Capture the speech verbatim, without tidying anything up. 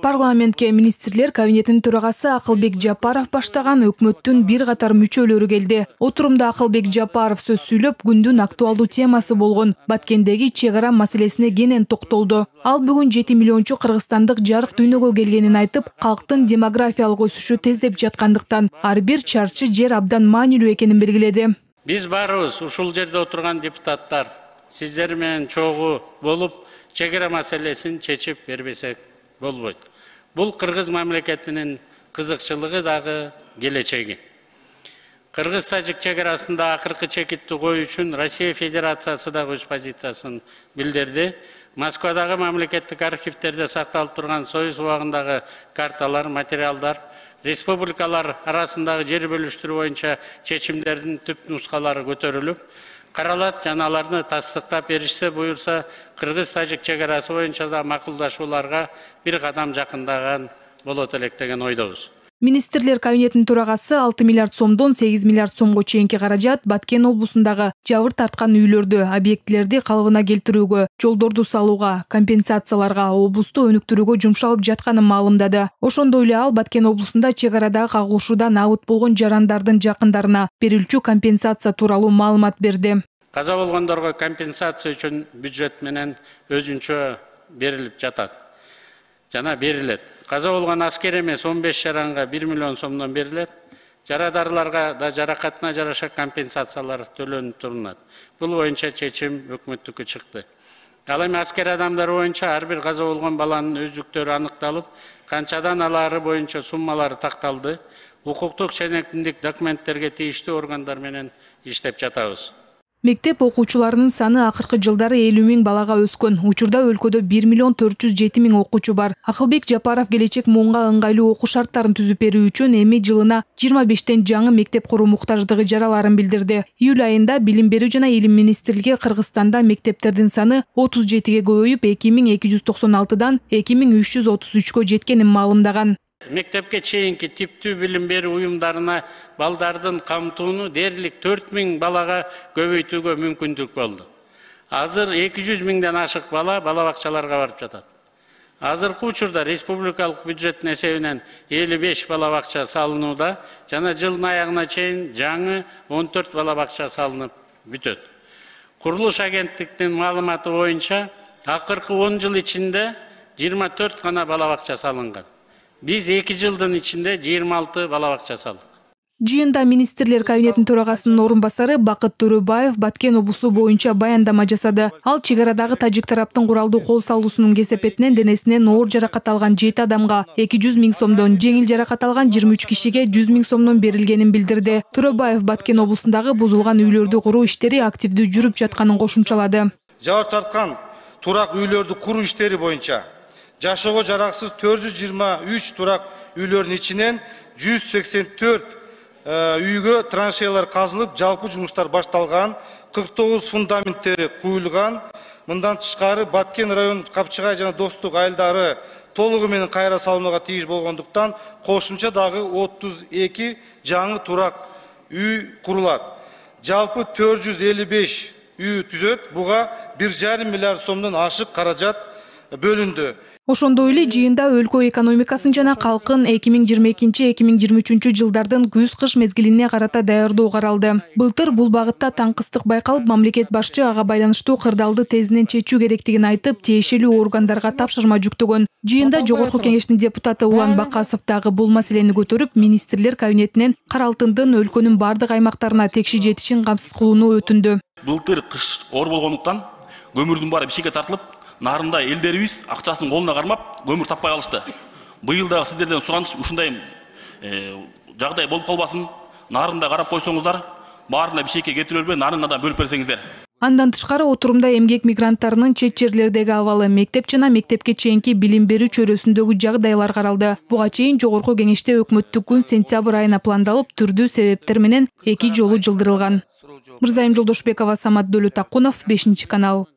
Парламентке министрлер кабинетинин төрагасы Акылбек Жапаров баштаган өкмөттүн бир катар мүчөлөрү келди. Отурумда Акылбек Жапаров сөз сүйлөп, күндүн актуалдуу темасы болгон Баткендеги чек ара маселесине кенен токтолду. Ал бүгүн жети миллиончу кыргызстандык жарык дүйнөгө келгенин айтып, калктын демографиялык өсүшү тездеп жаткандыктан ар бир чарчы жер абдан маанилүү экенин белгиледи. Биз баарыбыз ушул жерде отурган депутаттар сиздер менен чогуу болуп, чек ара маселесин чечип бербесек болбойт. Бул кыргыз мамлекетинин кызыкчылыгы дагы келечеги. Кыргыз-тажик чек арасында акыркы чекитти коюу үчүн Россия Федерациясы дагы өз позициясын билдирди. Москвадагы мамлекеттик архивтерде сакталып турган Союз убагындагы карталар, материалдар, республикалар арасындагы жер бөлүштүрүү боюнча чечимдердин түп нускалары көтөрүлүп, каралат жана аларды тастыктап беришсе буюрса, кыргыз-тажик чек арасы боюнча да макулдашууларга бир кадам жакындаган болот элек деген ойдобуз. Министрлер кабинетинин төрагасы алты миллиард сомдон сегиз миллиард сомго чейинки каражат Баткен облусундагы жабыр тарткан үйлөрдү, объектилерди калыбына келтирүүгө, жолдорду салууга, компенсацияларга, облусту өнүктүрүүгө жумшалып жатканын маалымдады. Ошондой эле ал Баткен облусунда чек арадагы кагылышуудан абыт болгон жарандардын жакындарына берилчү компенсация тууралуу маалымат берди. Каза болгондорго компенсация үчүн бюджет менен өзүнчө берилип жатат жана берилет. Каза болгон аскер эмес он беш жаранга бир миллион сомдон берилет. Жарадарларга да жаракатына жараша компенсациялар төлөнүп турулат. Бул боюнча чечим өкмөттүккө чыкты. Ал эми аскер адамдары боюнча ар бир каза болгон баланын өздүктөрү аныкталып, канчадан алаары боюнча суммалары такталды. Укуктук жана эркиндик документтерге тийиштүү органдар менен иштеп жатабыз. Мектеп окуучуларынын саны акыркы жылдары элүү миң балага өскөн. Учурда өлкөдө бир миллион төрт жүз жети миң окуучу бар. Акылбек Жапаров келечек муунга ыңгайлуу окуу шарттарын түзүп берүү үчүн эми жылына жыйырма бештен жаңы мектеп куруу муктаждыгы жараларын билдирди. Июль айында Билим берүү жана илим министрлиги Кыргызстанда мектептердин саны отуз жетиге көбөйүп, эки миң эки жүз токсон алтыдан эки миң үч жүз отуз үчкө жеткенин маалымдаган. Мектепке чейинки типтүү билим берүү уюмдарына балдардын камтууну дээрлик төрт миң балага көбөйтүүгө мүмкүндүк болду. Азыр эки жүз миңден ашык бала бала бакчаларга барып жатат. Азыркы учурда республикалык бюджеттин эсебинен элүү беш бала бакча салынууда жана жылдын аягына чейин жаңы он төрт бала бакча салынып бүтөт. Курулуш агенттиктин маалыматы боюнча акыркы он жыл ичинде жыйырма төрт гана бала бакча салынган. Биз эки жылдын ичинде жыйырма алты бала бакча салдык. Жыйында министрлер кабинетинин төрагасынын орун басары Бакыт Төрөбаев Баткен облусу боюнча баяндама жасады. Ал чек арадагы тажик тараптын куралдуу кол салуусунун кесепетинен денесинен оор жаракат алган жети адамга эки жүз миң сомдон, жеңил жаракат алган жыйырма үч кишиге жүз миң сомдон берилгенин билдирди. Төрөбаев Баткен облусундагы бузулган үйлөрдү куруу иштери активдүү жүрүп жатканын кошумчалады. Жабыр тарткан турак үйлөрдү куруу иштери боюнча жашоого жараксыз төрт жүз жыйырма үч турак үйлөрдүн ичинен жүз сексен төрт үйгө траншеялар казылып, жалпы жумуштар башталган, кырк тогуз фундаменттери куюлган. Мындан тышкары Баткен район Капчыгай жана Достук айылдары толугу менен кайра салынууга тийиш болгондуктан кошумча дагы отуз эки жаңы турак үй курулат. Жалпы төрт жүз элүү беш үй түзөт. Буга бир жарым миллиард сомдон ашык каражат бөлүндү. Ошондой эле жыйында өлкө экономикасын жана калкын эки миң жыйырма экинчи — эки миң жыйырма үчүнчү жылдардын күз-кыш мезгилине карата даярдоо каралды. Былтыр бул багытта таңкыстык байкалып, мамлекет башчы ага байланыштуу кырдаалды тезинен чечүү керектигин айтып, тиешелүү органдарга тапшырма жүктөгөн. Жыйында Жогорку Кеңештин депутаты Улан Бакасов дагы бул маселени көтөрүп, министрлер кабинетинен кара алтындын өлкөнүн бардык аймактарына текши жетишин камсыз кылууну өтүндү. Былтыр кыш оор болгондуктан көмүрдүн баары бишкекке тартылып, нарында элдерибиз акчасын колуна кармап көмүр таппай калышты. Быйыл да сиздерден сураныш ушундай жагдай болуп калбасын. Нарында карап койсоңуздар, баарына бишкекке кетирип бербей, нарына да бөлүп берсеңиздер. Андан тышкары отурумда эмгек мигранттарынын чет жерлердеги абалы, мектеп жана мектепке чейинки билим берүү чөйрөсүндөгү жагдайлар каралды. Буга чейин Жогорку Кеңеште өкмөттүк күн сентябрь айына пландалып, түрдүү себептер менен эки жолу жылдырылган. Мырзайым Жолдошбекова, Самат Дөлөтакунов, бешинчи канал.